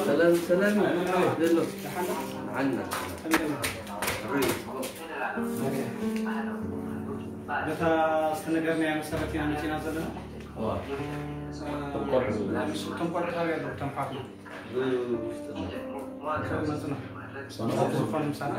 ሰላም ሰላም። ዘሎ ዓና በታ ዝተነገርናያ መሰረት ኢና መፂና ዘለና። እቶም ቆልዑ ኣበይ ኣለዉ? እቶም ሓፍና መፁና ዝኾነ ምሳና።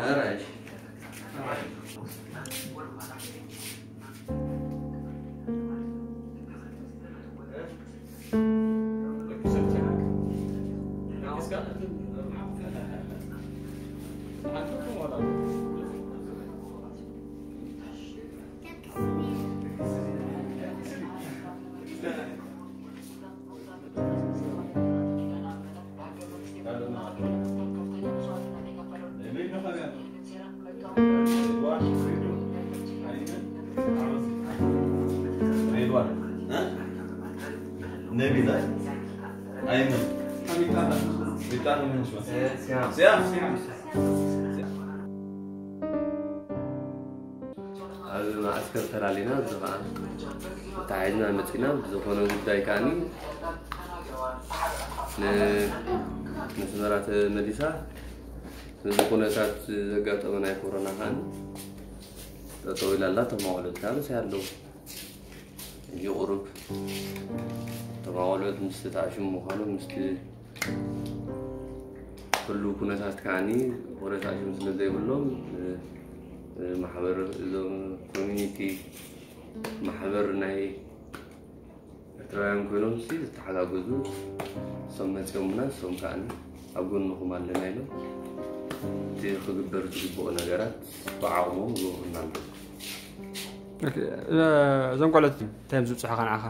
ኣብ ማእስከር ተላሊና፣ እዚ ኸዓ ተታሒዝና መፂና። ብዝኾነ ጉዳይ ከዓኒ ን-፣ ንስመራ ተመሊሳ። እዚ ኩነታት ዘጋጠመ ናይ ኮሮና ከዓኒ ጠጠው ኢላ ኣላ። ተማቆለት ከዓኒ ኣለዉ። ሕጂ ቁሩብ ተማቆለት ምስቲ ተኣሽሙ ምዃኑ ምስቲ ኩሉ ኩነታት ከዓኒ ኮረሳሽም ስለ ዘይብሎም፣ እ፣ እ፣ ማሕበር እዞም ኮሚኒቲ ማሕበር ናይ ኤርትራውያን ኮይኖም ሲ ዝተሓጋገዙ፣ እሶም መጺኦምና፣ እሶም ከዓኒ ኣብ ጎንኹም ኣለና ኢሎም እቲ ክግበር ዝግብኦ ነገራት ብዓቕሞም ይገብሩና ኣለዉ። ኦኬ፣ እ፣ እዞም ቆልዑት እንታይ እዮም ዝብጽሑኻ ንዓኻ?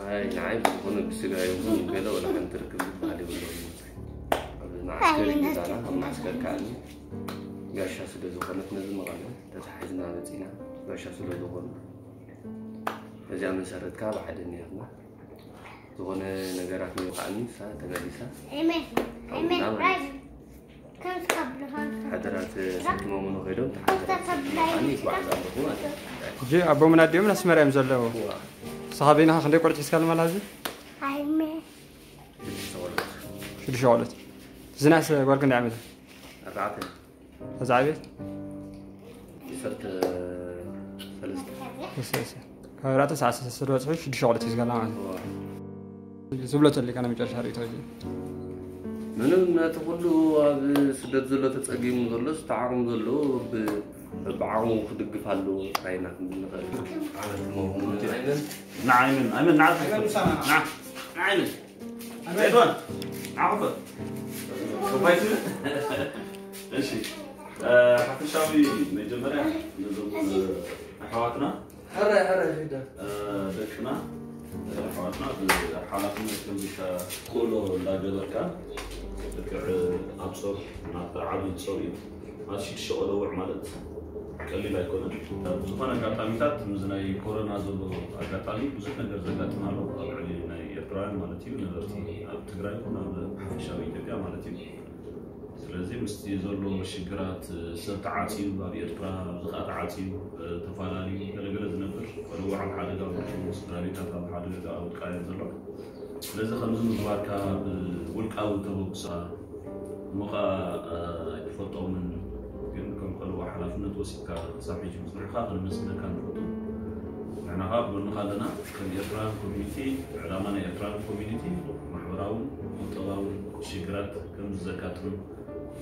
ኣይ፣ ንዓይ ብዝኾነ ብስጋ ይኹን ገለ ወላ ሓንቲ ርክብ ዝበሃል የብሎምን። ኣብ ማዕስከር እዩ ገዛና፣ ኣብ ማዕስከር ከዓኒ ጋሻ ስለ ዝኾነት ነዚ መቐለ ተታሒዝና መጺና፣ ጋሻ ስለ ዝኾኑ በዚኣ መሰረት ከዓ ብሓደ እኒኣትና። ዝኾነ ነገራት ንዮ ከዓኒ ንሳ ተመሊሳ ኣይመ-፣ ሓውና ኣይመ-፣ ማለት እዩ። ሓደራት ሰኪሞም ንኸይዶም ተሓደራት ሰኪሞም ይጓዓዝ ኣለኹ ማለት እዩ። ሕጂ ኣቦምን ኣዲኦምን ኣስመራ እዮም ዘለዉ። እዋ። ንስኻ በይንኻ ክንደይ ቆልዑ ሒዝካ ኣለኻ ሕዚ? ኣይመ-፣ ሽዱሽተ ቆልዑ። ሽዱሽተ ቆልዑ። ዝናስ ጓል ክንደይ ዓመት? ኣርባዕተ። እዛ ዓብየት? ዓሰርተ ሰለስተ። እሰ፣ እሰ። ካብ ኣርባዕተ ሰዓት ሰለስተ ዝበፅሑ ሽዱሽተ ቆልዑ ሒዝካ ኣለኻ ማለት እዩ። እዋ። ዝብሎ ተሊካ ናይ መጨረሻ ርእይቶ እዩ። ምንም ነቲ ኩሉ ኣብ ስደት ዘሎ ተጸጊሙ ዘሎ ዝተዓቕሙ ዘሎ ብ-፣ ብዓቕሙ ክድግፍ ኣለዎ ጥራይ ኢና ክንብል ንኽእል። ዓመት መሆኑ ኣይመን፣ ንዓይመን፣ ኣይመን፣ ንዓ-፣ ንዓ-፣ ንዓይመን። ሬድዋን፣ ንዓ ክፈት። ክፋይት። እሺ፣ እ፣ ሓፈሻዊ መጀመርያ ነዞም፣ እ፣ ኣሕዋትና ሕራይ፣ ሕራይ፣ ሒዳ። እ፣ ደቅና፣ እ፣ ኣሕዋትና ብሓላፍነት ከምዚ ኢልካ ክእሎ እንዳገበርካ፣ ልክዕ ኣብ ጾር፣ ናብቲ ዓቢ ጾር እዩ። ኣብ ሽዱሽተ ቆለውዕ ማለት ቀሊል ኣይኮነን። ብዝኾነ ኣጋጣሚታት፣ ምስዚ ናይ ኮሮና ዘሎ ኣጋጣሚ ብዙሕ ነገር ዘጋጥም ኣሎ፣ ኣብ ልዕሊ ናይ ኤርትራውያን ማለት እዩ፣ ነበርቲ ኣብ ትግራይ ይኹን ኣብ ሓፈሻዊ ኢትዮጵያ ማለት እዩ። ስለዚ ምስቲ ዘሎ ሽግራት፣ ሰብ ተዓጽዩ፣ ኣብ ኤርትራ ኣብዚ ኸኣ ተዓጽዩ፣ ተፋላልዩ፣ ገለገለ ዝነብር፣ ቆልዑ ኣብ ሓደጋ ወዲቑ፣ ስድራ ቤታት ኣብ ሓደጋ ወድቃ እየን ዘሎ። ስለዚ ከምዚ ምግባርካ ብውልቃዊ ተበግሶ እሞ ኸኣ ኣይትፈልጦምን፣ ግን ከም ቆልዑ ሓላፍነት ወሲድካ ክሳብ ሕጂ ምጽናሕካ ከነመስግነካ ንፈቱ። ንሕና ኸኣ ኣብ ጎንኻ ኣለና። ከም ኤርትራውያን ኮሚኒቲ፣ ዕላማ ናይ ኤርትራውያን ኮሚኒቲ ማሕበራውን ቁጠባውን ሽግራት ከም ዘጋጥም፣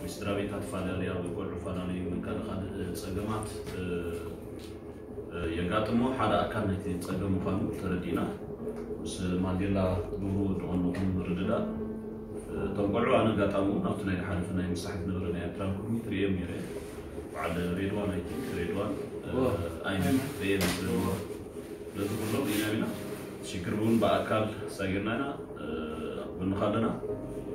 ምስ ስድራ ቤታት ፈላለያ ወይ ቆልዑ ፈላለዩ ወይ ካልእ ካልእ ጸገማት፣ እ፣ እ፣ የጋጥሞ ሓደ ኣካል ናይቲ ጸገም ምዃኑ ተረዲእና፣ ምስ ማንዴላ ግብሩ ወዲ ቀንኹም ምርድዳእ፣ እ፣ እቶም ቆልዑ ኣነ ኣጋጣሚ እውን ኣብቲ ናይ ዝሓለፈ ናይ ምሳሕ ዝነበረ ናይ ኤርትራን ኮሚኒቲ ርእዮም ነይረ። በዓል ሬድዋን፣ ኣይ ቲንክ ሬድዋን፣ እ፣ ዋ። ኣይመን ርእየ ነይረ። ነዚ ኩሎም ኢና ኢና ሽግር እውን ብኣካል ሳጊርና ኢና፣ እ፣ ኣብ ጎንኻ ኣለና።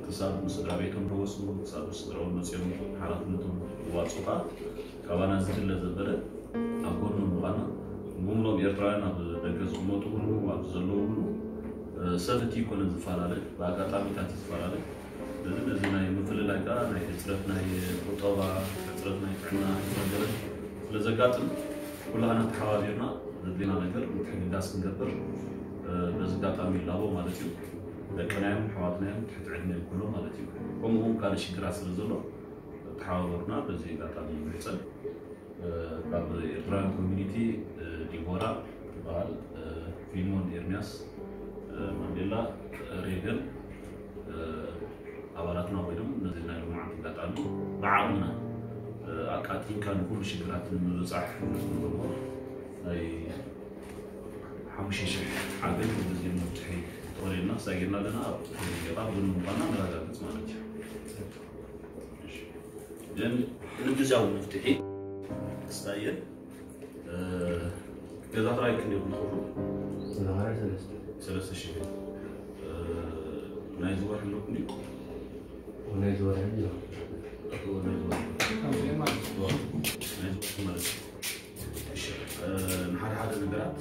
ክሳብ ምስ ስድራ ቤቶም ተወስኑ፣ ክሳብ ምስ ስድራኦም መፅዮም ሓላፍነቶም ይዋፅኡ ከዓ ካባና ዝድለ ዘበለ ኣብ ጎኖም ምዃና፣ ብምሎም ኤርትራውያን ኣብ ደገ ዝቕመጡ ሁሉ፣ ኣብ ዘለዉ ሁሉ፣ እ፣ ሰብ እቲ ይኮነን ዝፈላለ፣ ብኣጋጣሚታት እዩ ዝፈላለ። ስለዚ ነዚ ናይ ምፍልላይ ከዓ ናይ ሕፅረት ናይ ቁጠባ፣ ሕፅረት ናይ ጥዕና፣ ሕፅረት ገለ ስለ ዘጋጥም፣ ኩላህና ተሓባቢርና ዘድልየና ነገር ምትሕግጋዝ ክንገብር በዚ ኣጋጣሚ ይላቦ ማለት እዩ። ደቅናዮም ኣሕዋትናዮም ትሕቲ ዕድመ ይኩኖ ማለት እዩ። ከምኡ እውን ካልእ ሽግራት ስለ ዘሎ ተሓባበሩና በዚ ኣጋጣሚ ይምሕጸን። ካብ ኤርትራውያን ኮሚኒቲ ዲቦራ ትበሃል፣ ፊልሞን ኤርሚያስ፣ ማንዴላ፣ ሬገን፣ ኣባላትና ኮይኖም ነዚ ናይ ሎማዓንቲ ኣጋጣሚ ብዓቕምና ኣቃቲንካ ንኩሉ ሽግራት ንምብጻሕ ንግበሮ ናይ ሓሙሽተ ሽሕ ሓገዝ በዚ መብጽሒ ተወሪድና ሳጊርና ኣለና። ኣብ ጌጣ ብን ምዃና ነረጋግጽ ማለት እዩ። እሺ። ግን ንግዝያዊ መፍትሒ ክስታየን ገዛ ክራይ ክንደይ ይኹን ክፍሉ? ገዛ ክራይ ሰለስተ። ሰለስተ ሽሕ። ናይዚ ወርሒ ኣለኩም ድዩ? ናይዚ ወርሒ ኣሎ። ናይዚ ወርሒ ማለት እዩ። እሺ፣ ንሓደ ሓደ ነገራት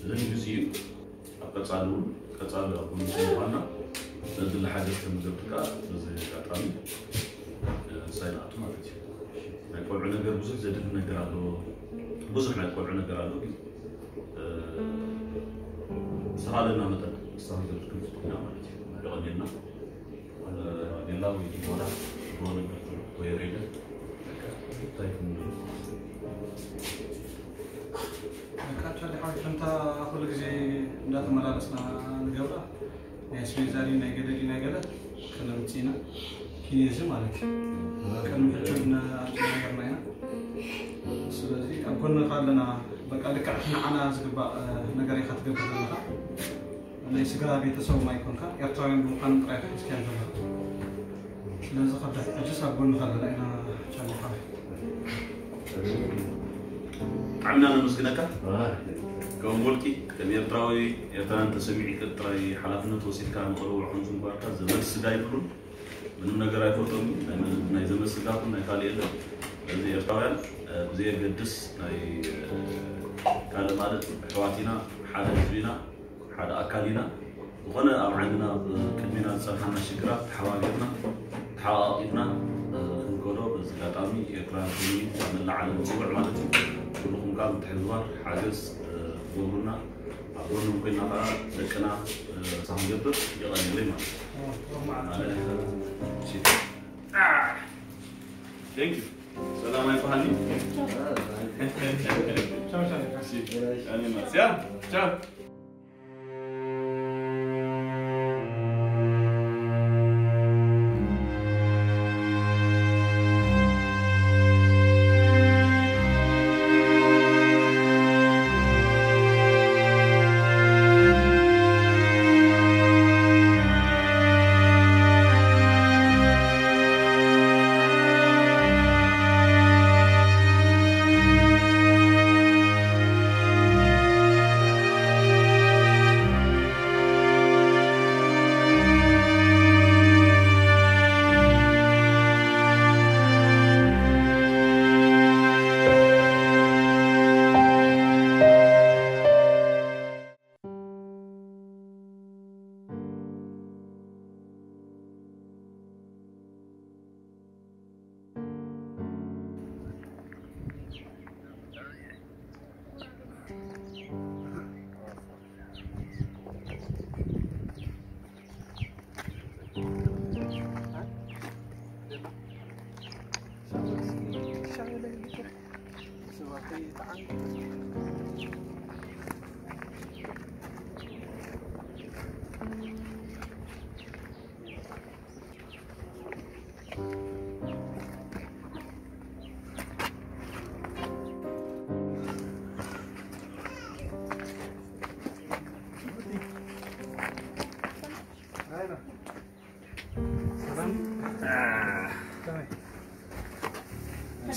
ዘንግዝ እዩ። ኣብ ቀጻሊ እውን ቀጻሊ ኣብ ጎንኩም ምዃንና ነዚ ሓገዝ ከም ንገብር ከኣ በዚ ኣጋጣሚ ሳይ ንኣቱ ማለት እዩ። ናይ ቆልዑ ነገር ብዙሕ ዘድሊ ነገር ኣሎ። ብዙሕ ናይ ቆልዑ ነገር ኣሎ። ግን ዝተኻለና መጠን ንስኻ ክንገብር ክንፍትን ኢና ማለት እዩ። የቐንየልና። ሌላ ወይ ዲቦራ ወይ ሬደ እንታይ ክንብል? በቃ፣ ቻሊ ሓወይ፣ ከምታ ኩሉ ግዜ እንዳተመላለስና ንገብራ፣ ናይ ኣስቤዛ ድዩ፣ ናይ ገለ ድዩ፣ ናይ ገለ ከነምጽእ ኢና። ኪኔዚ ማለት እዩ። ቅድሚ ሕጂ እውን ኣርጅና ኔርና ኢና። ስለዚ ኣብ ጎንኻ ኣለና። በቃ፣ ልክዕ እቲ ንዓና ዝግባእ ነገር ኢኻ ትገብር ዘለኻ። ናይ ስጋ ቤተሰቦም ኣይኮንካ፣ ኤርትራውያን ብምዃኖም ጥራይ ኢኻ ሒዝካዮም ዘለኻ። ስለዚ ከብዳ ሕጅስ ኣብ ጎንኻ ኣለና ኢና ቻሊ ሓወይ። ብጣዕሚ ኢና ነመስግነካ። ከም ውልቂ፣ ከም ኤርትራዊ፣ ኤርትራን ተሰሚዑካ ጥራይ ሓላፍነት ወሲድካ ንቐረቡ ከምዚ ምግባርካ ዘመድ ስጋ የብሉን። ምንም ነገር ኣይፈልጦም። ናይ መ-፣ ናይ ዘመድ ስጋ ይኹን ናይ ካልእ የለን። ስለዚ ኤርትራውያን፣ እ፣ ብዘየገድስ ናይ፣ እ፣ ካልእ ማለት ኣሕዋት ኢና፣ ሓደ ህዝቢ ኢና። ሓደ ኣካል ኢና። ዝኾነ ኣብ ዓድና፣ ኣብ ቅድሜና ዝጸንሓና ሽግራት ተሓባቢርና፣ ተሓቓቒፍና፣ እ፣ ክንከዶ በዚ ኣጋጣሚ ኤርትራውያን ኮሚኒቲ ኣብ መላእ ዓለም ንጽውዕ ማለት እዩ። ኩልኹም ከኣ ምትሕብባር፣ ሓገዝ፣ እ፣ ክትገብሩና፣ ኣብ ጎኖም ኮይና ከኣ ደቅና፣ እ፣ ክንገብር የቐንየለይ ማለት እዩ። ኣነ፣ እሺ። አ፣ thank you። ሰላም ኣይበሃልኒ። ቻው፣ ቻው። እሺ፣ ኣነ ማስያ። ቻው።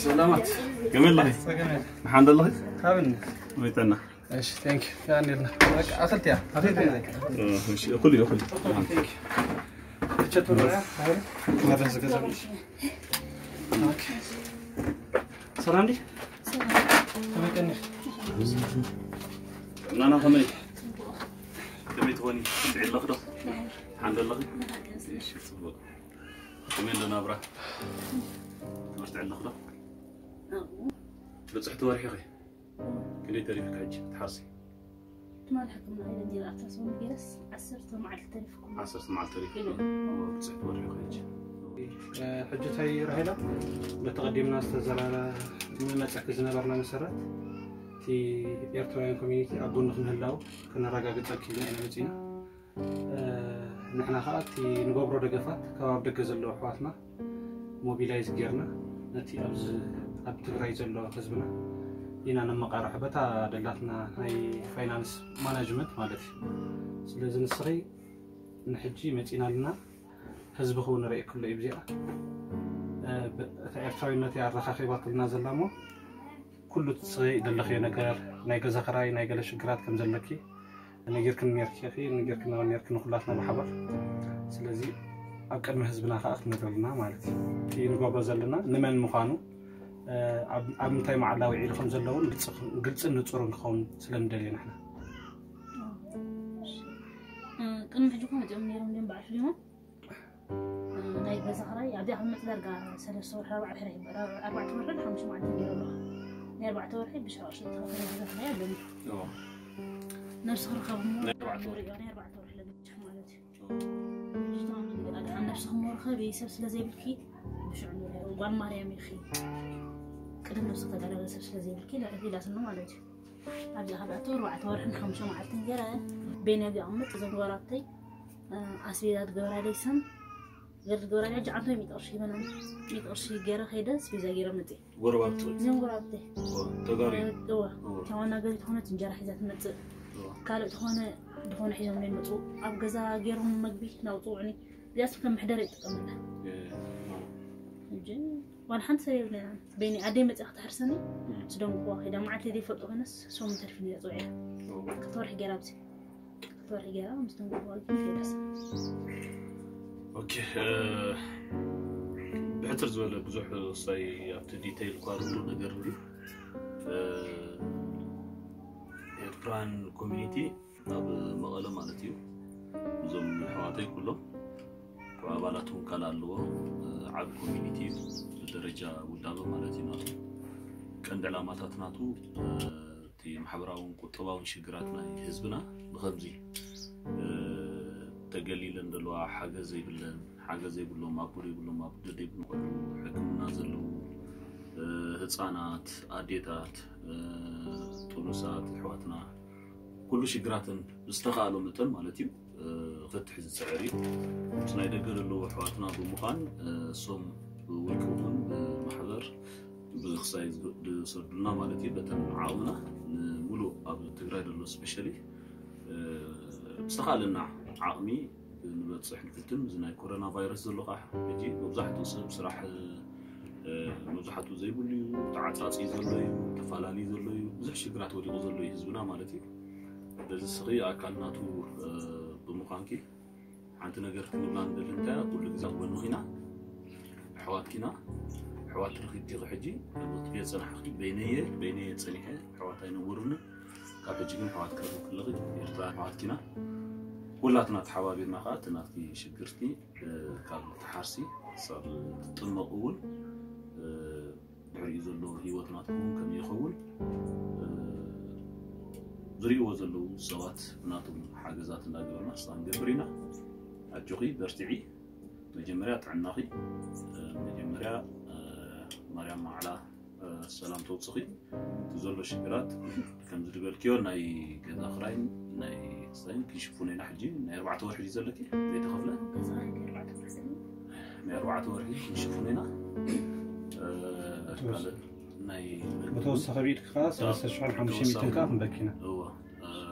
ሰላማት። ከመይ ኣለኺ? ጸገም የለን። ደሓን ዶ ኣለኺ? ሃብኒ። ከመይ ጥዕና? እሺ፣ thank you። ያ እንዴት ነህ? በቃ፣ ኣኽልቲ እያ። ኣኽልቲ እያ። እሺ፣ እኹል እዩ፣ እኹል እዩ። Thank you። እቸት ወረያ፣ ሃይለ፣ መድረስ ዝገዛም። ኦኬ። ሰላም ዲ? ከመይ ቀኒኺ? ጥዕናና ከመይ? ከመይ ትኾኒ? ትጥዕይ ኣለኺ ዶ? ደሓን ዶ ኣለኺ? እሺ፣ ጽቡቕ። ከመይ ኣሎ ናብራ? ትምህርቲ ኣለኺ ዶ? ብጽሕቲ ወርሒ ኢኺ? ክንደይ ተሪፍካ ሕጂ ክትሓርሲ? ትማሊ ሕክምና ኢለ እንዲራ ኣልትራሳውንድ ገይረስ ዓሰርተ መዓልቲ ተሪፍኩም። ዓሰርተ መዓልቲ ተሪፍኩም። ኢለ። ብፅሕቲ ወርሒ ኸይጂ። ሕጂ እንታይ ራሄላ፣ በተቐዲምና ዝተዘራረብና መፅእኪ ዝነበርና መሰረት እቲ ኤርትራውያን ኮሚኒቲ ኣብ ጎንኺ ምህላው ከነረጋግፀልኪ ኢልና ኢና መፂና። ንሕና ከዓ እቲ ንገብሮ ደገፋት ካብ ኣብ ደገ ዘለዉ ኣሕዋትና ሞቢላይዝ ጌርና ነቲ ኣብዚ ኣብ ትግራይ ዘሎ ህዝብና ኢና ነመቃርሖ በታ ደላትና ናይ ፋይናንስ ማናጅመንት ማለት እዩ። ስለዚ ንስኺ ንሕጂ መፂና ኣለና፣ ህዝቢ ክው ንርኢ ክሎ እዩ ብዚኣ እታ ኤርትራዊነት እያ ኣረኻኺባትልና ዘላ እሞ ኩሉ ትስኺ ዘለኽዮ ነገር ናይ ገዛ ክራይ ናይ ገለ ሽግራት ከም ዘለኪ ነጊርክን ነርኪ ነጊርክን ነርኪ ንኩላትና ብሓባር። ስለዚ ኣብ ቅድሚ ህዝብና ከዓ ክትነግረልና ማለት እዩ እቲ ንገብሮ ዘለና ንመን ምዃኑ ኣብ ምንታይ መዓላ ውዒሉ ከም ዘለውን ግልፅን ንፁርን ክኸውን ስለንደልየ ንሕና። ቅድሚ ሕጂ እኮ መፅኦም ነይሮም ድም በዓል ፍሊሞን ናይ ገዛ ክራይ ኣብዚኣ ክመፅ ዳርጋ ሰለስተ ወርሒ ኣርባዕተ ወርሒ ኣርባዕተ ወርሒ ሓሙሽተ መዓልቲ ገይሩ ኣለኹ። ናይ ኣርባዕተ ወርሒ ብሻቕሽቕ ተኸፈለ ገዛ ክራይ ኣለኒ። ነብሲ ክረኸብ እሞ ናይ ኣርባዕተ ወርሒ። ሪኦ ናይ ኣርባዕተ ወርሒ ለብቻ ማለት እዩ። ኣድሓን ነብስኺ እሞ ርኸቢ ሰብ ስለ ዘይብልኪ ብሽዑ ጓል ማርያም ኢኺ ቅድም ነብስኺ ተጋዳለ ሰብ ስለ ዘይብልኪ ኢላትኒ ማለት እዩ። ኣብዚ ካብ ኣቶ ኣርባዕተ ወርሕን ሓሙሽተ መዓልትን ገይረ ቤንያ ዚቐምጥ እዞም ጓላተይ ኣስቤዛ ትገብራለይ ስም ገር ትገብራለይ ሕጂ ዓንቶ ሚእቲ ቅርሺ ይበና ሚእቲ ቅርሺ ገይረ ከይደ ኣስቤዛ ገይረ መፅእ ጎረባብቲ ወይ እዚኦም ጓላተይ ተጋሪ እዋ እታ ዋና ገሪ ትኾነት እንጀራ ሒዛ ትመፅእ ካልእ ዝኾነ ዝኾነ ሒዞም ዘይመፁ ኣብ ገዛ ገይሮም መግቢ ናውፅውዕኒ እዚኣስ ከም መሕደሪ ይጥቀመላ ሕጂ ዋላ ሓንቲ ሰብ የብለና ቤኒ ኣደይ መፅኣ ክተሕርሰኒ ስደንግዋ ከይዳ መዓልቲ ዘይፈልጦ ኮይነስ ሰሙን ተርፊ ነያ ፅውዕያ ክትወርሒ ገይራ ኣብዚ ክትወርሒ ገይራ ምስ ደንግዋ ግን ከይዳስ ኦኬ ብሕትር ዝበለ ብዙሕ ሳይ ኣብቲ ዲቴይል እኳ ዝብሉ ነገር እ፣ ኤርትራን ኮሚኒቲ ኣብ መቐለ ማለት እዩ እዞም ኣሕዋተይ ኩሎም ካብ ኣባላት እውን ካልእ ኣለዎ እ፣ ዓብ ኮሚኒቲ እዩ ብደረጃ ውዳበ ማለት እዩ ናቱ ቀንዲ ዕላማታት ናቱ እ፣ እቲ ማሕበራውን ቁጠባውን ሽግራት ናይ ህዝብና ብከምዚ እ፣ ተገሊለን ዘለዋ ሓገዝ ዘይብለን ሓገዝ ዘይብሎም ኣቦ ዘይብሎም ኣቦ ዘይብሎም ቆልዑ ሕክምና ዘለዉ እ፣ ህፃናት ኣዴታት እ፣ ጥኑሳት ኣሕዋትና ኩሉ ሽግራትን ብዝተኻእሎ መጠን ማለት እዩ እ፣ ክፍትሕ ዝፅዕር እዩ ምስ ናይ ደገ ዘለዉ ኣሕዋትና ብምዃን እ፣ እሶም ብውልቂ እውን ብማሕበር ብክሳይ ዝሰዱልና ማለት እዩ በተን ዓቕምና ንሙሉእ ኣብ ትግራይ ዘሎ ስፔሻሊ ብዝተኻለና ዓቕሚ ንበፅሕ ንፍትን እዚ ናይ ኮሮና ቫይረስ ዘሎ ከዓ ሕጂ መብዛሕትኡ ሰብ ስራሕ እ፣ መብዛሕትኡ ዘይብሉ እዩ ተዓፃፂ ዘሎ እዩ ተፈላለዩ ዘሎ እዩ ብዙሕ ሽግራት ወዲቑ ዘሎ እዩ ህዝብና ማለት እዩ በዚ ስኺ ኣካል ናቱ እ፣ ብምዃንኪ ሓንቲ ነገር ክንብላ ንደሊ እንታይ ኩሉ ግዜ ኣብ ጎንኺ ኢና ኣሕዋትኪ ኢና ኣሕዋት ረኺብኪ ኢኺ ሕጂ ክትሪኦ ዝፀናሕኺ በይነየ በይነየ ፀኒሐ ኣሕዋት ኣይነበሩኒ ካብ ሕጂ ግን ኣሕዋት ክረኽብ ከለኺ ኤርትራ ኣሕዋትኪ ኢና ኩላትና ተሓባቢርና ከዓ እቲ ናትኪ ሽግርቲ እ፣ ካብ ትሓርሲ ክሳብ ትጥመቕ እውን እ፣ ድሕሪኡ ዘሎ ህይወት ናትኩም ከም ይኸውን እ፣ ዝርእይዎ ዘለዉ ሰባት ናቶም ሓገዛት እንዳገበርና ክሳብ ንገብር ኢና ኣጆኺ በርትዒ መጀመርያ ጥዕናኺ እ፣ መጀመርያ እ፣ ማርያም ማዕላ እ፣ ሰላም ተውፅኺ እቲ ዘሎ ሽግራት ከምዚ ዝበልክዮ ናይ ገዛ ክራይን ናይ ክሳይን ክንሽፍኖ ኢና ሕጂ ናይ ኣርባዕተ ወርሒ እዩ ዘለኪ ዘይተኸፍለ ናይ ኣርባዕተ ወርሒ ክንሽፍኖ ኢና እ፣ ካልእ ናይ ብተወሳኺ ብኢድካ ከዓ ሰለስተ ሽሕን ሓሙሽተ ሚእትን ከዓ ክንበኪና እወ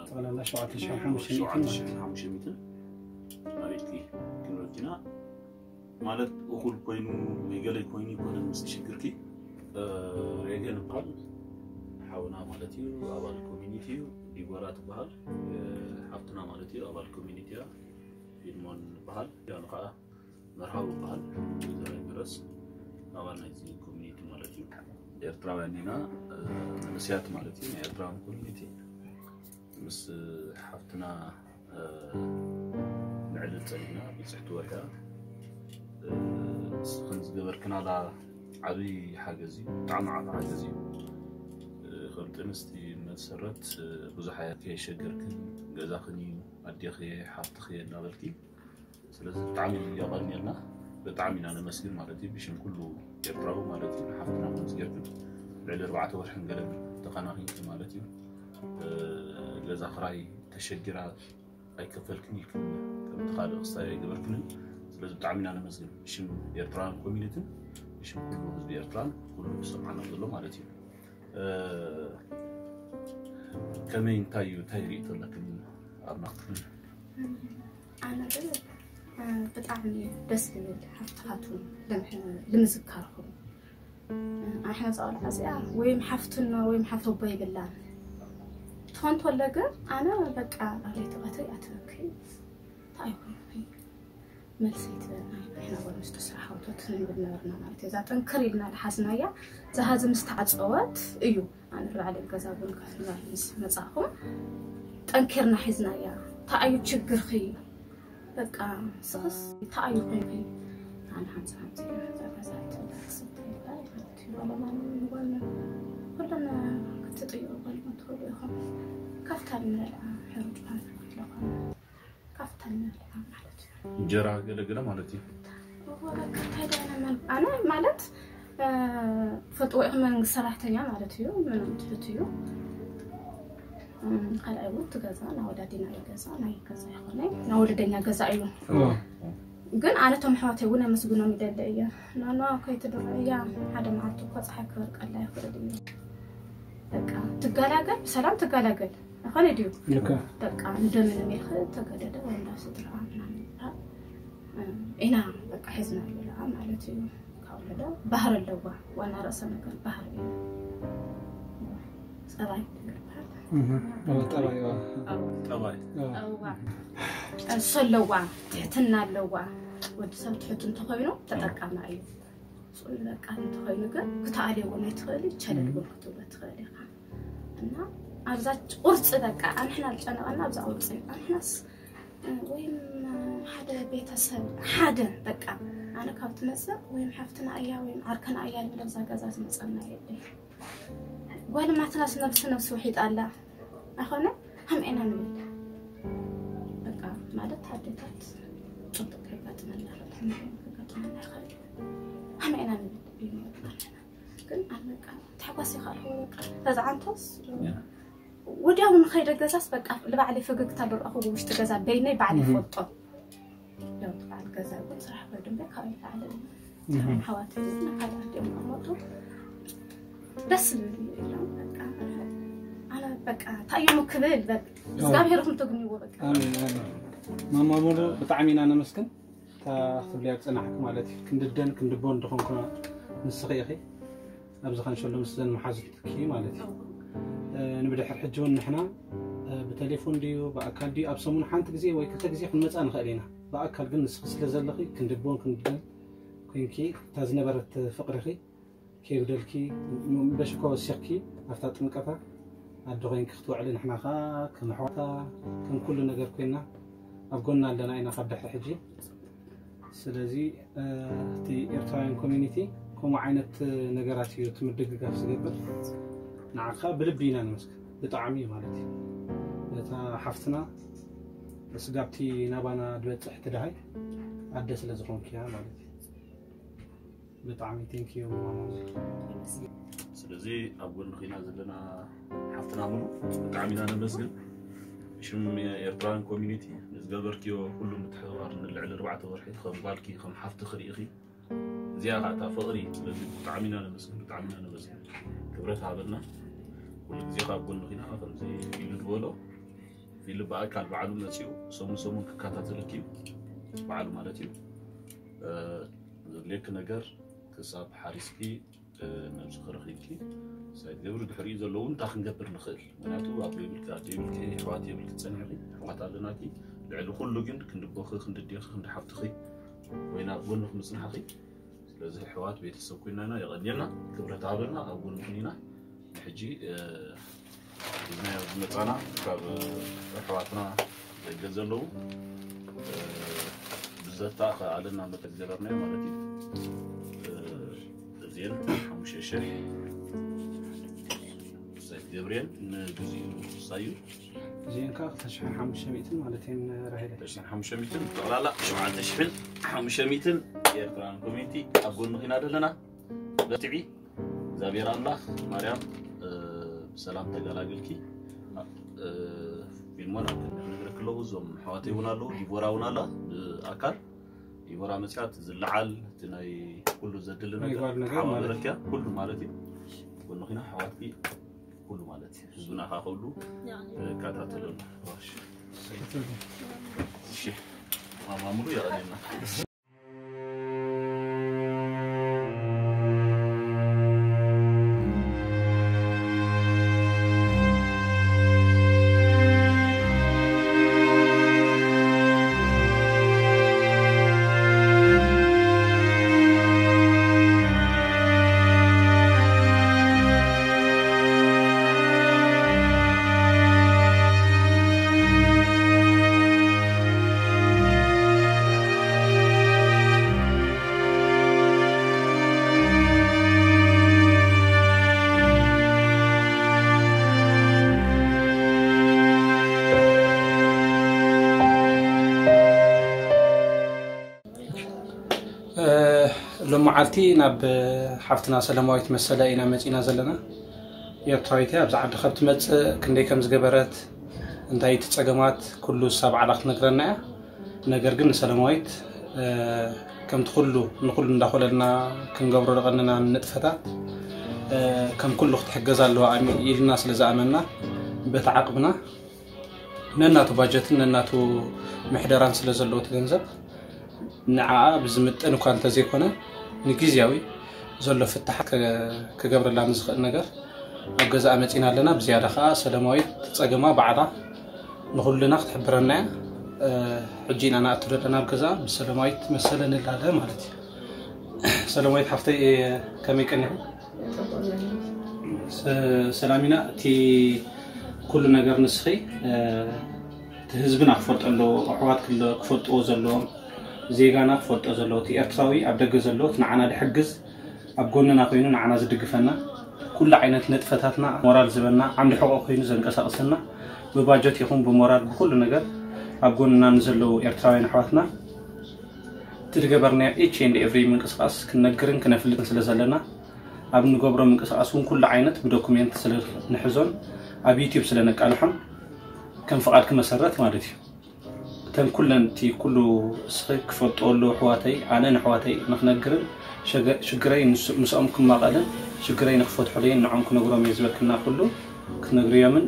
ጠቕላላ ሸውዓተ ሽሕን ሓሙሽተ ሚእትን ማለት እዩ። ሸውዓተ ሽሕን ሓሙሽተ ሚእትን ኣብ ኢድኪ ክንበኪና ማለት እኹል ኮይኑ ወይ ገለ ኮይኑ ይኮነ ምስ ሽግርኪ እ፣ ሬገን ይበሃል ሓውና ማለት እዩ ኣባል ኮሚኒቲ እዩ ዲቦራ ትበሃል እ፣ ሓፍትና ማለት እዩ ኣባል ኮሚኒቲ እያ ፊልሞን ይበሃል ያን ከዓ መርሃዊ ይበሃል ዘራይ ምረስ ኣባል ናይዚ ኮሚኒቲ ማለት እዩ ኤርትራውያን ኢና እ፣ መንእሰያት ማለት እዩ ናይ ኤርትራውያን ኮሚኒቲ ምስ ሓፍትና እ፣ ንዕልል ፀኒሕና ብፅሕቲ ወርያ እ፣ ንስኽን ዝገበርክናላ ዓብዪ ሓገዝ እዩ ብጣዕሚ ዓብ ሓገዝ እዩ እ፣ ከም ጥንስቲ መሰረት ብዙሕ ኣያ ከየሸገርክን፣ ገዛኽን እዩ፣ ኣዴኺ እየ፣ ሓፍትኺ እየ እናበልኪ፣ ስለዚ ብጣዕሚ የቐንየልና። ብጣዕሚ ኢና ነመስግን ማለት እዩ፣ ብሽም ኩሉ ኤርትራዊ ማለት እዩ። ንሓፍትና ከምዚ ጌርክን ልዕሊ ኣርባዕተ ወርሕን ገለን ተኸናኺንኪ ማለት እዩ። ገዛ ክራይ ተሸጊራ ኣይከፈልክን ኢልክን ከምቲ ካልእ ክስታይ ኣይገበርክንን። ስለዚ ብጣዕሚ ኢና ነመስግን ብሽም ኤርትራውያን ኮሚኒትን ብሽም ኩሉ ህዝቢ ኤርትራን ኩሉ ዝሰምዓና ዘሎ ማለት እዩ። ከመይ እንታይ እዩ እንታይ ርእቶ ኣለክን ኣብና? ኣነ ግን ብጣዕሚ ደስ ዝብል ሃፍትኻትኩም ልምዝካርኩም ኣሕና ዛቆልዓ እዚኣ ወይም ሓፍትና ወይም ሓፍቶ ኣቦ ይብላን ትኾን ተሎ ግን ኣነ በቃ ኣብ ለይቲ ቀትሪ ኣትበኪ እንታይ ይኮንኩ መልሰይ ትበልና ኣሕና ጓል ኣንስተይቲ ስራሕ ኣውቶት ንብል ነበርና ማለት እዩ እዛ ጥንክር ኢልና ዝሓዝናያ ዝሃዚ ምስ ተዓፀወት እዩ ኣነ ባዕለይ ገዛ ቡን ከፍልላ ምስ መፃእኹ ጠንኪርና ሒዝናያ እንታይ እዩ ችግርኺ በቃ ስኽስ እንታይ እዩ ኮንኪ ኣነ ሓንቲ ሓንቲ እዛ ገዛ ትበላ ክሰተ ይበላ ማለት እዩ ባለማን ንጓልና ኩለን ክትጥይሩ ጓልኩም ትኽእሉ ኢኹም ካብታ ንበልዓ ሕሩጭ ማለት ኣለኹም ካብታ ንበልዓ ማለት እዩ እንጀራ ገለገለ ማለት እዩ። ኣነ ማለት ፈልጥዎ ኢኹም መንግስቲ ሰራሕተኛ ማለት እዩ ምንም ትሕት እዩ ካልኣይ እውን እቲ ገዛ ናወዳዲና እዩ ገዛ ናይ ገዛ ይኮነ ናወለደኛ ገዛ እዩ ግን ኣነ ቶም ኣሕዋተይ እውን ኣመስግኖም ይደለ እየ ናኖ ከይትድሮ እያ ሓደ መዓልቲ እኮ ፀሓይ ክበርቀላ ይኽእል እዩ በቃ ትገላገል ብሰላም ትገላገል ኣኸለ ድዩ በቃ ንደምንም ኢልክ ተገደደ ወይ እንዳ ስድራ ምናምን ኢና በቃ ሒዝና ኣለና ማለት እዩ ካብ ወለደ ባህር ኣለዋ ዋና ርእሰ ነገር ባህር እዩ ፀባይ ይበሃል ጠባይ ጠባይ እሱ ኣለዋ ትሕትና ኣለዋ ወዲ ሰብ ትሕት እንተኮይኑ ተጠቃማ እዩ ስኡል በቃ እንተኮይኑ ግን ክትኣልዮ እውን ኣይትኽእል ቸለል እውን ክትብሎ ትኽእል ኢኻ እና ኣብዛ ቁርፂ በቃ ኣንሕና ዝጨነቐና ኣብዛ ቁርፂ ኣንሕናስ ወይም ሓደ ቤተሰብ ሓደ በቃ ኣነ ካብ ትመፅእ ወይም ሓፍትና እያ ወይም ዓርከና እያ ንብለ ኣብዛ ገዛ ዝመፀና የለ ጓል ማትናስ ነብሲ ነብሲ ውሒጣ ኣላ ኣኾነ ሃምኤና ንብል በቃ ማለት ኣዴታት ፅቡቅ ከጋጥመና ከጋጥመና ይኽእል ሃምኤና ንብል ግን ኣበቃ ተሓጓስ ይኽኣልዎ በቃ ተዝዓንቶስ ወዲያው ንኸይደ ገዛስ በቃ ልባዕለይ ፈገግታ ዝረኣኹ ውሽጢ ገዛ በይነይ ባዕለይ ፈልጦ ያው በዓል ገዛ ግን ስራሕ ከይዱ እምበር ካብ ይላዕለ ሓዋት ካልኣት እዮም ኣመጡ ደስ ዝብል እዩ ኢሎም በቃ ኣነ በቃ እንታይ እዮም ክብል በቃ እግዚኣብሔር ኹም ተግንይዎ በቃ ማማ ሙሉ ብጣዕሚ ኢና ነመስግን እታ ክትብልያ ዝፀናሕክ ማለት እዩ ክንድደን ክንድቦን ድኾንኩ ንስኺ ኢኺ ኣብዚ ከንሸሎ ምስ ዘን መሓዙትኪ ማለት እዩ ንብድሕር ሕጂ እውን ንሕና ብቴሌፎን ድዩ ብኣካል ድዩ ኣብ ሰሙን ሓንቲ ግዜ ወይ ክልተ ግዜ ክንመፃ ንኽእል ኢና ብኣካል ግን ንስኺ ስለ ዘለኺ ክንድቦን ክንድደን ኮንኪ እታ ዝነበረት ፍቅርኺ ከይጉደልኪ በሽኮ ወሲኽኪ ኣብታ ጥምቀታ ኣደ ኮይንኪ ክትውዕሊ ንሕና ከዓ ከም ኣሕዋታ ከም ኩሉ ነገር ኮይና ኣብ ጎና ኣለና ኢና ካብ ድሕሪ ሕጂ ስለዚ እቲ ኤርትራውያን ኮሚኒቲ ከምኡ ዓይነት ነገራት እዩ እቲ ምድግጋፍ ዝገብር ንዓኻ ብልቢ ኢና ንመስክ ብጣዕሚ እዩ ማለት እዩ እታ ሓፍትና ስጋብቲ ናባና ዝበፅሕ ትድሃይ ኣደ ስለ ዝኾንክያ ማለት እዩ ብጣዕሚ ቴንኪዩ ስለዚ ኣብ ጎንኺ ኢና ዘለና ሓፍትና ሙሉ ብጣዕሚ ኢና ነመስግን ሽም ኤርትራን ኮሚኒቲ ንዝገበርክዮ ኩሉ ምትሕብባር ንልዕሊ ኣርባዕተ ወርሒ ከም ጓልኪ ከም ሓፍቲ ክርኢኺ እዚኣ ከዓ እታ ፍቕሪ ስለዚ ብጣዕሚ ኢና ነመስግን ብጣዕሚ ኢና ነመስግን ክብረት ሃበልና ኩሉ ግዜ ካብ ጎንኺ ኢና ከምዚ ኢሉ ዝበሎ ኢሉ ብኣካል ባዕሉ መፂኡ ሰሙን ሰሙን ክከታተለኪ እዩ ባዕሉ ማለት እዩ ዘድልየኪ ነገር ክሳብ ሓሪስኪ ነብስኺ ረኺብኪ ሳይትገብሪ ድሕሪኡ ዘለዉ እንታይ ክንገብር ንኽእል ምክንያቱ ኣቦ የብልኪ ኣደ የብልኪ ኣሕዋት የብልኪ ፀኒሕኺ ኣሕዋት ኣለናኪ ልዕሊ ኩሉ ግን ክንዲ ኣቦኺ ክንዲ ኣዴኺ ክንዲ ሓፍትኺ ኮይና ኣብ ጎንኺ ምፅናሕኺ ስለዚ ኣሕዋት ቤተሰብ ኮይና ኢና የቐንየልና ክብረት ሃበልና ኣብ ጎንኹም ኢና ሕጂ ሒዝናዮ ዝመፃና ካብ ኣሕዋትና ደገ ዘለዉ ብዘተኣኸኣለና መጠን ዝገበርናዮ ማለት እዩ እዚኤን ሓሙሽተ ሽሕ ገብርኤል ንግዚኡ ሳዩ እዚአን ከዓ ክልተ ሽሕን ሓሙሽተ ሚእትን ማለት እየን። ራሄለ ሽሕን ሓሙሽተ ሚእትን ጠቕላላ ሸውዓተ ሽሕን ሓሙሽተ ሚእትን ኤርትራን ኮሚኒቲ ኣብ ጎንኺ ኢና ዘለና። በርትዒ። እግዚኣብሔር ኣምላኽ ማርያም እ፣ ብሰላም ተገላግልኪ። እ፣ ፊልሞን ኣብ ክንዲ ክነግረክ ኣለኹ። እዞም ኣሕዋተይ እውን ኣለዉ፣ ዲቦራ እውን ኣላ ብኣካል። ዲቦራ መፅያ እቲ ዝለዓል እቲ ናይ ኩሉ ዘድሊ ነገር ምግባር ነገር ማለት ተሓባበረክያ ኩሉ ማለት እዩ። ጎንኺና ኣሕዋትኪ ኩሉ ማለት እዩ። ህዝብና ከዓ ኩሉ ይከታተለሉ። እሺ። እሺ። ማማ ሙሉ የቐኔልና። ሎመዓልቲ ናብ ሓፍትና ሰለማዊት መሰለ ኢና መፂና ዘለና። ኤርትራዊት እያ። ኣብዚ ዓዲ ካብ ትመፅእ ክንደይ ከም ዝገበረት፣ እንታይ እቲ ፀገማት፣ ኩሉ እሳ ባዕላ ክትነግረና እያ። ነገር ግን ንሰለማዊት ከምቲ ኩሉ ንኩሉ እንዳኮለልና ክንገብሮ ደቐንና ንጥፈታት ከም ኩሉ ክትሕገዝ ኣለዋ ኢልና ስለ ዝኣመና፣ በቲ ዓቕምና ነናቱ ባጀትን ነናቱ ምሕደራን ስለ ዘለዎ እቲ ገንዘብ፣ ንዓኣ ብዝምጥን እኳ እንተዘይኮነ፣ ንግዝያዊ ዘሎ ፍታሓት ክገብረላ ንዝኽእል ነገር ኣብ ገዛኣ መፂና ኣለና። ብዝያዳ ከዓ ሰለማዊት ጸገማ ባዕላ ንኹልና ክትሕብረና እያ። ሕጂ ኢና ንኣቱ ዘለና ኣብ ገዛኣ፣ ምስ ሰለማዊት መሰለ ንላለ ማለት እዩ። ሰለማዊት ሓፍተይ፣ ከመይ ቀኒኹ? ሰላሚና፣ እቲ ኩሉ ነገር ንስኺ እቲ ህዝብና ክፈልጦ ኣለዎ፣ ኣሕዋት ክፈልጥዎ ዘለዎም፣ ዜጋና ክፈልጦ ዘለዎ፣ እቲ ኤርትራዊ ኣብ ደገ ዘሎ እቲ ንዓና ድሕግዝ፣ ኣብ ጎንና ኮይኑ ንዓና ዝድግፈና፣ ኩሉ ዓይነት ንጥፈታትና ሞራል ዝበና፣ ዓንዲ ሕቆ ኮይኑ ዘንቀሳቅሰና፣ ብባጀት ይኹን ብሞራል ብኩሉ ነገር ኣብ ጎንና ንዘለዉ ኤርትራውያን ኣሕዋትና እቲ ዝገበርናዮ each and every ምንቅስቃስ ክንነግርን ክነፍልጥን ስለ ዘለና፣ ኣብ ንገብሮ ምንቅስቃስ እውን ኩሉ ዓይነት ብዶኩሜንት ስለ ንሕዞን ኣብ ዩቲዩብ ስለ ነቃልሖን ከም ፍቓድኪ መሰረት ማለት እዩ። እተን ኩለን እቲ ኩሉ እስኺ ክፈልጥዎ ኣለዎ ኣሕዋተይ፣ ኣነ ንኣሕዋተይ ንክነግርን ሸገ-፣ ሽግረይ ምስ-፣ ምስኦም ክማቐልን ሽግረይ ንክፈትሑለይን ንዖም ክነግሮም እየ ዝበልክና ኩሉ ክትነግርዮምን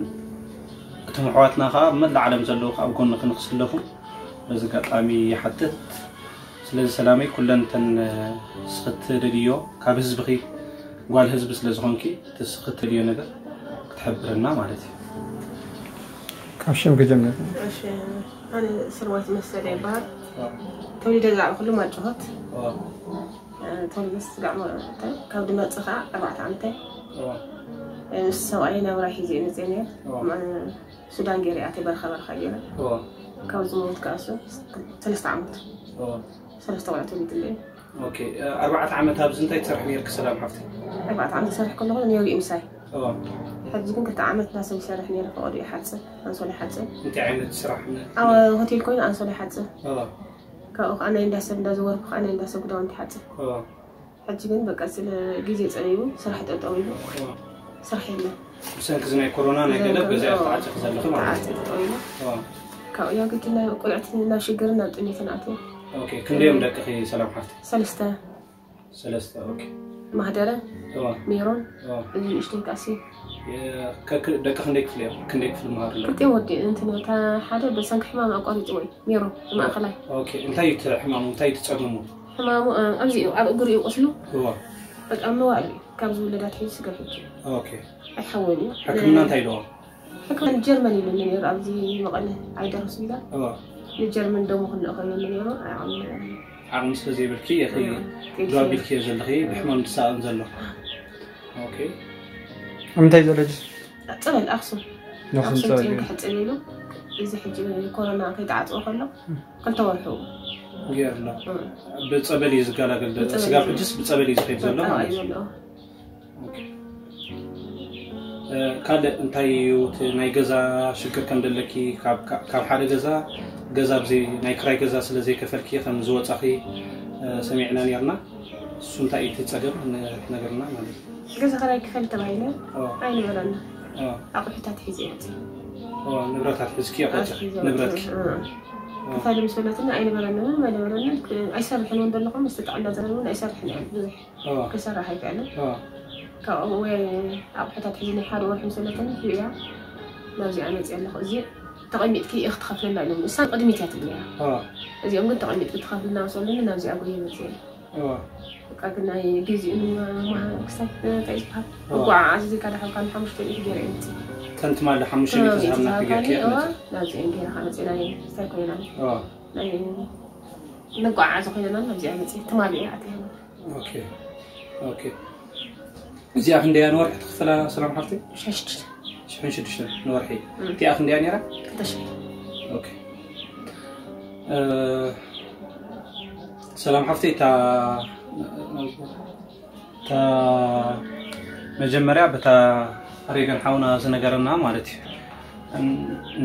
እቶም ኣሕዋትና ከዓ ኣብ መላእ ዓለም ዘለዉ ከዓ ኣብ ጎንኺ ንክስለፉ በዚ ኣጋጣሚ ይሓትት። ስለዚ ሰላመይ፣ ኩለን እተን እስኺ ትደልዮ ካብ ህዝብኺ፣ ጓል ህዝቢ ስለ ዝኾንኪ እቲ እስኺ ትደልዮ ነገር ክትሕብርና ማለት እዩ። ካብ ሽም ክጀምር። እሺ፣ ኣነ ስርወት መሰለ ይበሃል። ተወሊደ ዝዓበኹሉ ማጭሆት። ተወሊደ ስጋዕ መ-፣ ካብ ድመጽእ ከዓ ኣርባዕተ ዓመተይ። ምስ ሰብኣይ ናብራ ሒዘ እየ መፅእ ነይረ። ሱዳን ገይረ ኣተይ በረኻ በረኻ ገይረ። ካብ ዝሞት ከዓ እሱ ሰለስተ ዓመት። ሰለስተ ቆልዑ ተወሊድለይ። ኦኬ፣ ኣርባዕተ ዓመት ኣብዚ እንታይ ትሰርሒ ነይርኪ ሰላም ሓፍቲ? ኣርባዕተ ዓመት ዝሰርሕ ከለኹ ነይሩ እዩ ምሳይ። ሕጂ ግን ክልተ ዓመት ናብ ሰብ ይሰርሕ ነይረ። ፈቐዶ ይሓፅብ፣ ኣንሶላ ይሓፅብ። እንታይ ዓይነት ስራሕ? ኣብ ሆቴል ኮይኑ ኣንሶላ ይሓፅብ። ካብኡ ከዓ ናይ እንዳ ሰብ እንዳዘወርኩ ከዓ ናይ እንዳ ሰብ ክዳውንቲ ይሓፅብ። ሕጂ ግን በቃ ስለ ግዜ ፀቢቡ ስራሕ ጠጠው ኢሉ፣ ስራሕ የለን። ብሰንኪ እዚ ናይ ኮሮና ናይ ገለ በዚ እያ ተዓፂኺ ዘለኺ ማለት እዩ። ጠጠው ኢሉ። ካብኡ ያው ግዲ ናብ ቆልዕቲ ናብ ሽግርን ናብ ጥሜትን ኣትዩ። ኦኬ፣ ክንደዮም ደቅኺ ሰላም ሓፍቲ? ሰለስተ። ሰለስተ። ኦኬ። ማህደረ፣ ሜሮን፣ እዚ ንእሽተይ ካሲ። ደቂ ክንደይ ክፍሊ እዮም? ክንደይ ክፍሊ መሃሩ ኣለዉ? ክልቲኦም ወዲ እንትን እታ ሓደ በሰንኪ ሕማም ኣቋሪጹ ወይ ሜሮን ማእከላይ። ኦኬ። እንታይ እቲ ሕማሙ? እንታይ እቲ ጸገሙ? ሕማሙ ኣብዚ እዩ፣ ኣብ እግሩ እዩ ቁስሉ። እዋ። በቃ መዋእል እዩ። ካብ ዝውለድ ኣትሒዙ ስገር ሕጂ። ኦኬ። ኣይሓወን እዩ። ሕክምና እንታይ ኢልዎ? ሕክምና ንጀርመን ኢሉኒ ነይሩ፣ ኣብዚ መቐለ ዓይደር ሆስፒታል። እዋ። ንጀርመን ደሙ ክንልእኸሉ ነይሩ፣ ኣይዓቕሚ ነይሩ። ዓቕሚ ስለ ዘይብልኪ ኢኺ ዶ ኣቢልክዮ ዘለኺ፣ ብሕማም ዝሰኣን ዘሎ። ኦኬ። ኣብ ምንታይ ዘሎ ሕጂ? ጸበል ኣኽሱም። ኣኽሱም ኣኽሱም ጽዮን ጸበል። ክሕጽብ ኢሉ፣ እዚ ሕጂ ኮሮና ከይተዓጽወ ከሎ፣ ክልተ ወርሑ። ገይሩ ኣሎ። ብጸበል እዩ ዝገላገል ዘሎ። ብጸበል ስጋብ እዩ። ሕጅስ ብጸበል እዩ ዝኸይድ ዘሎ ብጸበል ማለት እዩ። እዩ ዘሎ። ኦኬ። ካልእ እንታይ እዩ እቲ ናይ ገዛ ሽግር ከም ደለኪ፣ ካብ ሓደ ገዛ ገዛ ብዘይ ናይ ክራይ ገዛ ስለ ዘይከፈልኪ ከም ዝወጻኺ ሰሚዕና ነርና። እሱ እንታይ እዩ እቲ ጸገም? ነግርና ማለት እዩ። ገዛ ክራይ ክፈል ተባሂለ ኣይንበረና። ኣዎ። ኣቑሑታት ሒዘ ይወጽእ። ንብረታት ሒዝኪ ኣቑሑት ንብረትኪ ክፈል ምስ በለትና ኣይንበረና፣ ምንም ኣይንበረና። ኣይሰርሕን እውን ዘለኹም ምስ ጥዕና ዘለውን ኣይሰርሕን እየ ብዙሕ ኣዎ። ክሰርሕ ኣይክእልን። ኣዎ። ካብኡ ወይ ኣቑሑታት ሒዘ ናይ ሓደ ወርሒ ምስ በለትኒ ሂብያ ናብዚኣ መፅእ ኣለኹ። እዚ ተቐሚጥኪ ኢኺ ትኸፍለላ ኢሎም። እሳ ቅድሚት እያ ትብለያ። ኣዎ። እዚኦም ግን ተቐሚጥኪ ትኸፍልና ምስ በሉኒ ናብዚኣ ጎየ መፅእ። ኣዎ። በቃ ግን ናይ ግዚኡ ክሳብ እንታይ ዝበሃል ኣዎ። መጓዓዓዚ ዘይካ ዳሕልካ ንሓሙሽተ ሚእቲ ገይረ እየ መፅእ። ከም ትማሊ ሓሙሽተ ሚእቲ ዝሃብና ጌርኪ እያ ትመፅእ። ናብዚኦም ገይረ ከዓ መፅእ ናይ እንታይ ኮይና ኣዎ። ናይ መጓዓዓዚ ኮይና ናብዚኣ መፅእ ትማሊ እያ ኣትያ። ኦኬ ኦኬ። እዚኣ ክንደይ እያ ንወርሒ ትኽፍላ ሰላም ሓፍተይ? ሽሕን ሽዱሽተ ሽሕን ሽዱሽተን ንወርሒ። እቲኣ ክንደይ እያ ነይራ? ክልተ ሽሕ። ኦኬ። እ፣ ሰላም ሓፍተይ፣ እታ እታ መጀመርያ በታ ሬገን ሓውና ዝነገረና ማለት እዩ።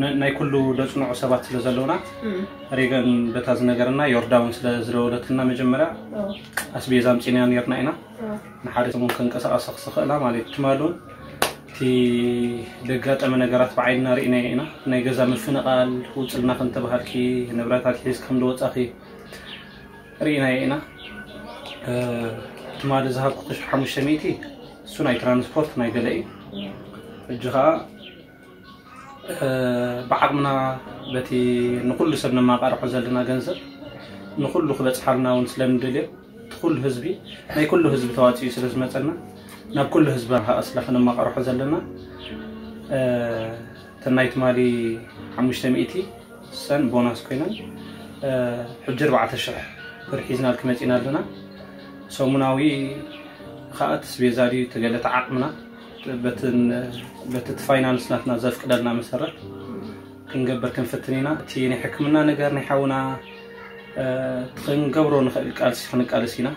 ን-፣ ናይ ኩሉ ደጽንዑ ሰባት ስለ ዘለውና፣ እም። ሬገን በታ ዝነገረና ዮርዳውን ስለ ዝደወለትና መጀመርያ ኣዎ። ኣስቤዛ ኣምጺና ነርና ኢና። ኣዎ። ንሓደ ሰሙን ከንቀሳቐሳ ክኽእላ ማለት እዩ። ትማሊ እውን እቲ ደጋጠመ ነገራት ብዓይንና ርኢናዮ ኢና። ናይ ገዛ ምፍንቓል፣ ውፅልና ከም ተባሃልኪ፣ ንብረታት ሒዝ ከም ዝወፃኺ ርኢናዮ ኢና። እ፣ ትማሊ ዝሃብኩ ሓሙሽተ ሚእቲ እሱ ናይ ትራንስፖርት ናይ ገለ እዩ። ሕጂ ኸዓ እ፣ ብዓቕምና በቲ ንኹሉ ሰብ ነማቓርሖ ዘለና ገንዘብ ንኹሉ ክበጽሓልና እውን ስለ ንደልዮ፣ እቲ ኩሉ ህዝቢ፣ ናይ ኩሉ ህዝቢ ተዋጺኡ ስለ ዝመጸና፣ ናብ ኩሉ ህዝቢ ኸኣ ስለ ከነማቓርሖ ዘለና፣ እ፣ እተን ናይ ትማሊ ሓሙሽተ ሚእቲ ሰን ቦናስ ኮይነን፣ እ፣ ሕጂ ኣርባዕተ ሽሕ ብር ሒዝናልኪ መጺና ኣለና። ሰሙናዊ ኸኣ እቲ ኣስቤዛ ድዩ፣ እቲ ገለ እቲ ዓቕምና፣ በትን-፣ በቲ እቲ ፋይናንስ ናትና ዘፍቅደልና መሰረት ክንገብር ክንፍትን ኢና። እቲ ናይ ሕክምና ነገር ናይ ሓውና፣ እ፣ እቲ ክንገብሮ ንኽእል ቃልሲ ክንቃለስ ኢና።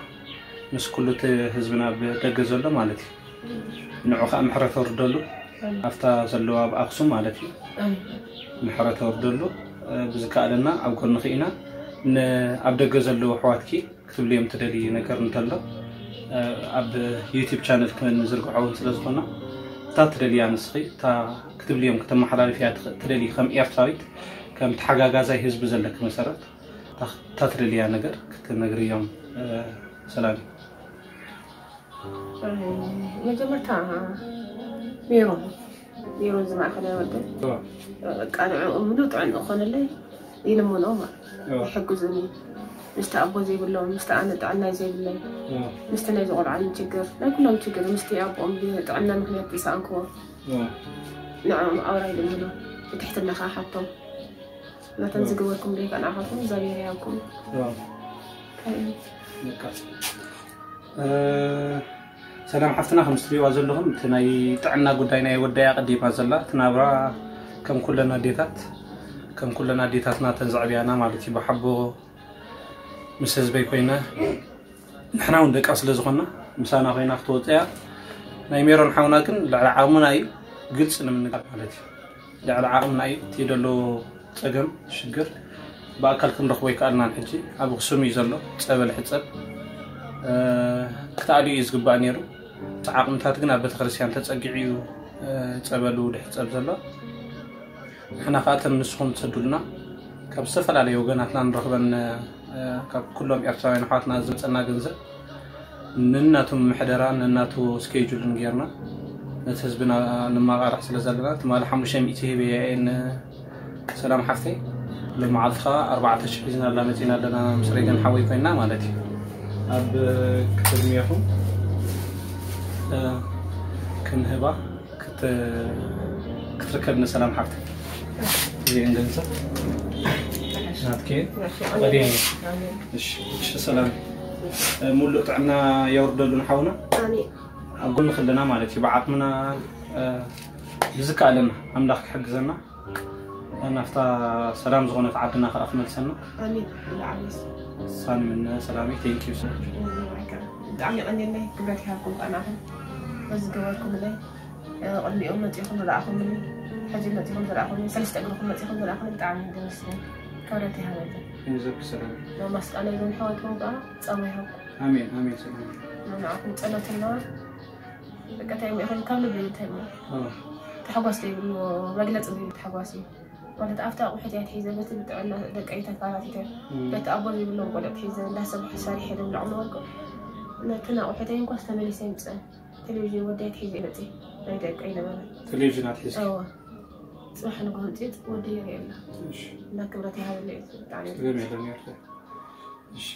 ምስ ኩሉ እቲ ህዝብና ኣብ ደገ ዘሎ ማለት እዩ። ንዑ ኸኣ ምሕረት ወርደሉ፣ ኣብታ ዘለዋ ኣብ ኣክሱም ማለት እዩ። ምሕረት ወርደሉ፣ እ፣ ብዝከኣለና ኣብ ጎንኺ ኢና። ን-፣ ኣብ ደገ ዘለዉ ኣሕዋትኪ ክትብልዮም ትደልዪ ነገር እንተሎ፣ እ፣ ኣብ ዩቲዩብ ቻነል ክንዝርግሖ እውን ስለ ዝኾና፣ እታ ትደልያ ንስኺ፣ እታ ክትብልዮም ከተመሓላልፍያ ትኽ-፣ ትደልዪ ከም ኤርትራዊት፣ ከም ተሓጋጋዛይ ህዝቢ ዘለኪ መሰረት፣ እታ፣ እታ ትደልያ ነገር ክትነግርዮም፣ እ፣ ሰላም እዩ። መጀመርታ ሜሮን፣ ሜሮን ዝማእከል ወደ እዋ፣ በቃ ንዕኡ ምሉእ ጥዕና ዝኾነለይ ይልምኖ ማለት እዋ፣ ይሕግዙኒ። ምስቲ ኣቦ ዘይብሎም፣ ምስቲ ኣነ ጥዕናይ ዘይብለይ፣ እዋ፣ ምስቲ ናይ ዝቆልዓኒ ችግር፣ ናይ ኩሎም ችግር፣ ምስቲ ኣቦኦም ብጥዕና ምክንያት ዝሰኣንክዎ እዋ። ንዕኦም ኣውራ ይልምኖ። ብትሕትና ከዓ ሓቶም ናተን ዝገበርኩም ደይካ ንዓኻትኩም እግዚኣብሔር ይሃብኩም። እዋ። በቃ። እ፣ ሰላም ሓፍትና፣ ከም ትሪእዋ ዘለኹም እቲ ናይ ጥዕና ጉዳይ ናይ ወዳያ ቀዲማ ዘላ፣ እቲ ናብራ ከም ኩለን ኣዴታት፣ ከም ኩለን ኣዴታትና ተን ዘዕብያና ማለት እዩ። ብሓቦ ምስ ህዝበይ ኮይነ ንሕና እውን ደቃ ስለ ዝኾንና ምሳና ኮይና ክትወፅእ እያ። ናይ ሜሮን ሓውና ግን ልዕሊ ዓቕምና እዩ፣ ግልፂ ንምንጋር ማለት እዩ። ልዕሊ ዓቕምና እዩ እቲ ዘሎ ፀገም፣ ሽግር። ብኣካል ክንረኽቦ ኣይከኣልናን። ሕጂ ኣብ ኣኽሱም እዩ ዘሎ፣ ፀበል ሕፀብ፣ እ፣ ክትኣልዩ እዩ ዝግባእ ነይሩ። እቲ ዓቕምታት ግን ኣብ ቤተክርስትያን ተፀጊዑ እዩ፣ እ፣ ፀበሉ ድሕፀብ ዘሎ። ንሕና ከዓ እተን ንስኹም ትሰዱልና ካብ ዝተፈላለዩ ወገናትና ንረኽበን፣ እ፣ ካብ ኩሎም ኤርትራውያን ኣሕዋትና ዝመፀና ገንዘብ ነናቱ ምሕደራ ነናቱ ስኬጁልን ጌርና ነቲ ህዝብና ንማቓራሕ ስለ ዘለና፣ ትማሊ ሓሙሽተ ሚእቲ ሂበ እየ ንሰላም ሓፍተይ፣ ሎመዓልቲ ከዓ ኣርባዕተ ሽሕ ሒዝናላ መፂና ኣለና፣ ምስ ሬገን ሓወይ ኮይንና ማለት እዩ። ኣብ ክትድምየኹም፣ እ፣ ክንህባ ክት-፣ ክትርከብ ንሰላም ሓፍተይ። እዚአን ገንዘብ ናትኪ። ቀዲም። እሺ፣ እሺ፣ ሰላም። ሙሉእ ጥዕና የውርደሉ ንሓውና። ኣሜን። ኣብ ጎንኺ ኣለና ማለት እዩ። ብዓቕምና፣ እ፣ ብዝከኣለና ኣምላኽ ክሕግዘና ናብታ ሰላም ዝኾነት ዓድና ከኣ ክመልሰና። ኣሜን። ብዓቢስ ሳኒ ምነ ሰላሚ፣ thank you so much። ብጣዕሚ የቐንየለይ። ክብረት ይሃብኩም ቃናኹም በዚ ገበርኩምለይ። ቅድሚኦም መፂኹም ዝረኣኹምኒ፣ ሕጂ መፂኹም ዝረኣኹምኒ፣ ሰለስተ እግርኹም መፂኹም ዝረኣኹምኒ ብጣዕሚ ደመስግን። ክብረት ይሃበለይ። ገንዘብ ክሰራል ማስቃ ናይ ዞም ሕዋትኩም ከዓ ፃማ ይሃብኩም። ኣሜን ኣሜን ሰላም ንዓኹም ፀሎትና በቃ እንታይ እሞ ይኹን ካብ ልቢ እንታይ እሞ ተሓጓስ ዘይብሉ መግለፂ ዘይብሉ ተሓጓስ እዩ። ማለት ኣብቲ ኣቑሑት እያ ትሒዘ በቲ ብጥዕና ደቀይ ተካራቲተ በቲ ኣቦ ዘይብሎም ቆልዑት ሒዘ እንዳሰብሐ ሰሪሐ ደብልዖም ነበርኩ። ነቲ ናቑሑተይ እንኳስ ተመሊሰ ይምፅእ ቴሌቪዥን ወደይ ትሒዘ ይመፅእ ናይ ደቀይ ነበረ። ቴሌቪዥን ኣትሒዝ እወ ፅባሕ ንግሆ ምፅእ ወደይ የርኢ ኣላ። እና ክብረት ይሃበለይ ብጣዕሚ ስለም የለን ይርዳ እሺ